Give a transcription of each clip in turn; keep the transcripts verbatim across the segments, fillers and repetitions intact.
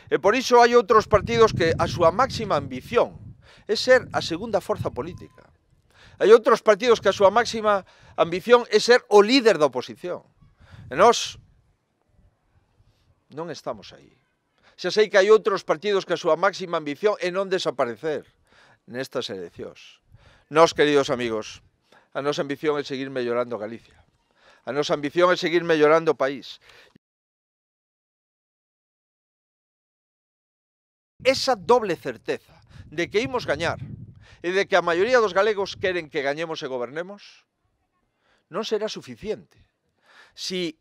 E por iso hai outros partidos que a súa máxima ambición é ser a segunda forza política. Hai outros partidos que a súa máxima ambición é ser o líder da oposición. E nós non estamos aí. Xa sei que hai outros partidos que a súa máxima ambición é non desaparecer nestas eleccións. Nós, queridos amigos, a nosa ambición é seguir mellorando Galicia. A nosa ambición é seguir mellorando o país. Esa doble certeza de que imos gañar e de que a maioría dos galegos queren que gañemos e gobernemos non será suficiente. Si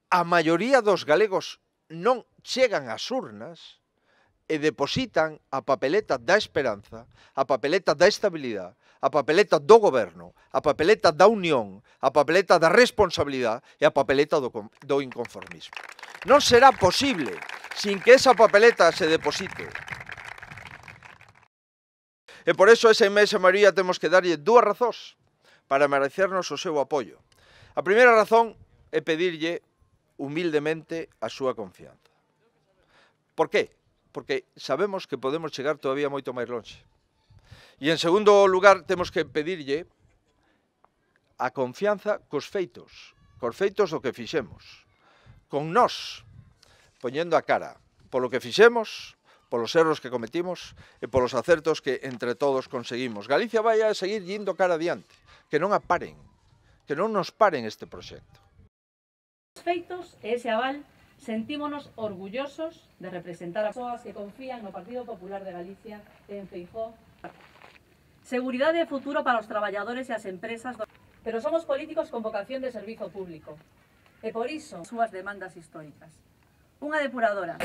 a maioría dos galegos non chegan ás urnas e depositan a papeleta da esperanza, a papeleta da estabilidade, a papeleta do goberno, a papeleta da unión, a papeleta da responsabilidade e a papeleta do, do inconformismo. Non será posible sin que esa papeleta se deposite. E por eso a esa inmensa maioría temos que darlle dúas razóns para merecernos o seu apoio. A primeira razón é pedirlle humildemente a súa confianza. Por qué? Porque sabemos que podemos chegar todavía moito máis longe. E en segundo lugar, temos que pedirlle a confianza cos feitos, cos feitos do que fixemos, con nós, poñendo a cara polo que fixemos, polos erros que cometimos e polos acertos que entre todos conseguimos. Galicia vai a seguir indo cara adiante, que non a paren, que non nos paren este proxecto. Os feitos e ese aval sentímonos orgullosos de representar a persoas que confían no Partido Popular de Galicia e en Feijóo. Seguridade e futuro para os traballadores e as empresas, pero somos políticos con vocación de servizo público. E por iso, súas demandas históricas. Unha depuradora.